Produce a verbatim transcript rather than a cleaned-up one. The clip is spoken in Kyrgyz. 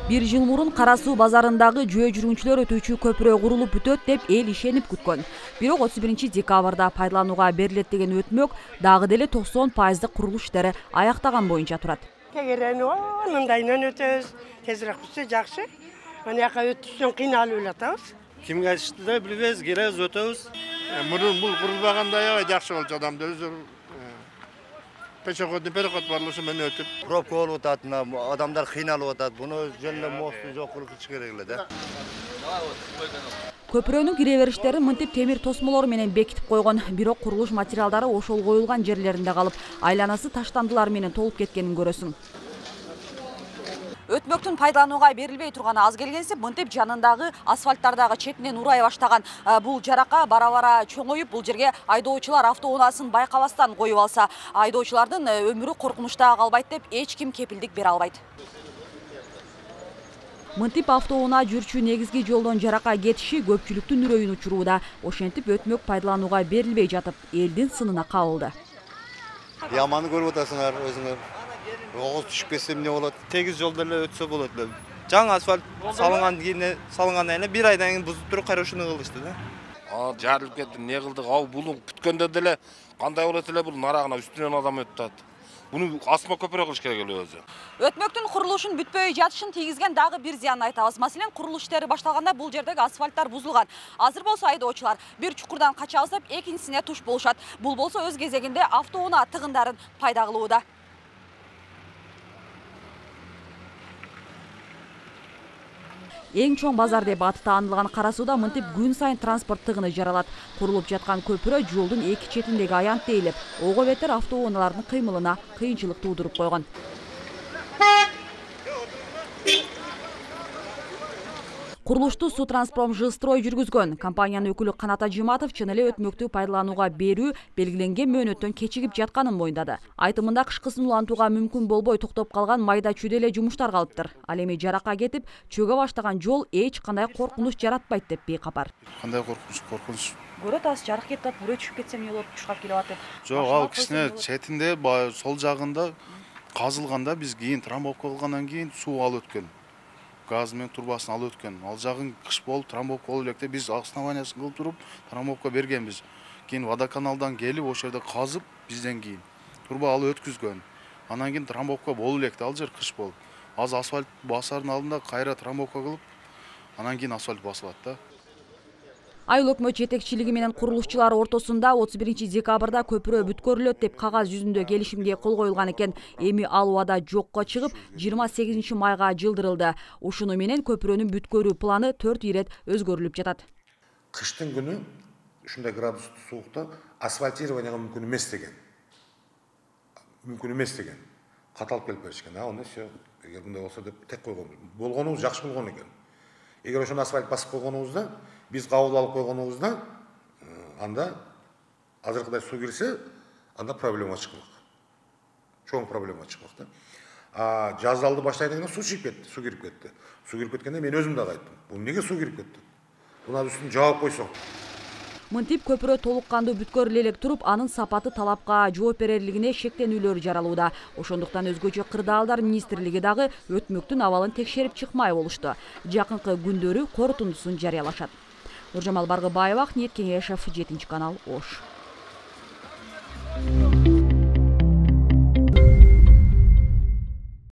Бир жыл мурун Кара Суу базарындагы жөө жүргүнчүлөр өтүүчү көпүрө курулуп бүтөт деп эл ишенип күткөн. Бирок отуз биринчи декабрда пайдаланууга берилет деген өтмөк дагы деле токсон пайыздык курулуш иштери аяктаган боюнча турат. Кегерени мындайынан өтөбүз, тезирээк бүтсө жакшы. Анаяка өтүшүн кыйналып элатабыз. Кимге айтышты да билбейбиз, келебиз, өтөбүз. Мурун бул курулбаганда аябай жакшы болчу, адамдар өзү пешеходный переход бар, ошо менен өтүп. Пробка болуп атат, адамдар кыйналып атат. Буну жөн эле мосту жок кылыш керек эле да. Көпүрөнүн кире бериштерин мынтип темир тосмолор менен бекитип койгон, бирок курулуш материалдары ошол коюлган жерлеринде калып, айланасы таштандылар менен толуп кеткенин көрөсүң. Өтмөктүн пайдаланууга берилбей турганы аз келгенсип, мынтип жанындагы асфальттардагы четинен урай баштаган бул жарака бара-бара чоңоюп, бул жерге айдоочулар автоунаасын байкабастан коюп алса, айдоочулардын өмүрү коркунучта калбайт деп эч ким кепилдик бере албайт. Мынтип автоунаа жүрчү негизги жолдон жарака кетиши көпчүлүктүн үрөйүн учурууда. Ошентип өтмөк пайдаланууга берилбей жатып, элдин сынына кабылды. Яманы көрүп атасыңар өзүңөр. Огуз түшүп кетсе эмне болот? Тегиз жолдо эле өтсө болот эле. Жаңы асфальт салынган кийин салынгандан кийин бир айдан кийин бузуп туруп кайра ушуну кылышты да. А жарылып кетти, эмне кылдык? Ау бул бүткөндө деле кандай болот эле бул нарагына үстүнөн адам өтүп атат. Буну асма көпүрө кылыш керек эле өзү. Өтмөктүн курулушун бүтпөй жатышын тийгизген дагы бир зыянын айтабыз. Маселен, курулуш иштери башталганда бул жердеги асфальттар бузулган. Азыр болсо айдоочулар бир чукурдан кача алсап, экинчисине туш болушат. Бул болсо өз кезегинде автоунаа тыгындарын пайда кылууда. Эң чоң базар деп аты таанылган Кара Сууда мынтип күн сайын транспорт тыгыны жаралат. Курулуп жаткан көпүрө жолдун эки четиндеги аянт тейлеп, ого бетер автоунаалардын кыймылына кыйынчылык туудуруп койгон. Курулушту Сутранспром Жилстрой жүргүзгөн. Компаниянын өкүлү Канат Ажиматов чын эле өтмөктү пайдаланууга берүү белгиленген мөөнөттөн кечигип жатканын моюндады. Айтымында кышкысын улантууга мүмкүн болбой токтоп калган майда чүйдө эле жумуштар калыптыр. Ал эми жарака кетип, чөгө баштаган жол эч кандай коркунуч жаратпайт деп бейкапар. Кандай коркунуч, коркунуч. Көрөт атасыз, жарык кетип атат, бүрөө түшүп кетсе эмне болот, чуркап келип атат деп. Жок, ал кичине четинде сол жагында казылганда биз кийин трамбовка кылгандан кийин суу алып өткөн. Газ менен турбасын алып өткөн. Ал жагын кыш болуп трамбовка болуп электе биз основаниясын кылып туруп трамбовка бергенбиз. Кийин водоканалдан келип ошол жерде казып бизден кийин турба алып өткүзгөн. Анан кийин трамбовка болуп электе ал жер кыш болуп. Азыр асфальт басардын алдында кайра трамбовка кылып, анан кийин асфальт басылат да. Айыл өкмөт жетекчилиги менен курулушчулар ортосунда отуз биринчи декабрда көпүрө бүткөрүлөт деп кагаз жүзүндө келишимге кол коюлган экен. Эми ал убада жокко чыгып, жыйырма сегизинчи майга жылдырылды. Ушуну менен көпүрөнүн бүткөрүү планы төрт ирет өзгөрүлүп жатат. Кыштын күнү ушундай градустуу суукта асфальтированияга мүмкүн эмес деген. Мүмкүн эмес деген. Каталып келип беришкен. А, онда всё. Эгер мындай болсо деп тек койгон. Болгонубуз жакшы болгон экен. Эгер ошону асфальт басып койгонубузда, биз кабыл алып койгонубузда, анда азыркыдай суу кирсе, анда проблема чыкмак. Чоң проблема чыкмак да. А жазалды баштайдан кийин суу чыгып кетти, суу кирип кетти. Суу кирип кеткенде мен өзүм дагы айттым. Бул эмнеге суу кирип кетти? Буна үстүн жаап койсоң. Мынтип көпүрө толук кандуу бүткөрүлө элек туруп, анын сапаты талапка жооп берерлигине шектенүүлөр жаралууда. Ошондуктан өзгөчө кырдаалдар министрлиги дагы өтмөктүн абалын текшерип чыкмай болушту. Жакынкы күндөрү корутундусун жарыялашат. Нуржамал Баргыбаева, Ниет Кеңешев, жетинчи канал, Ош.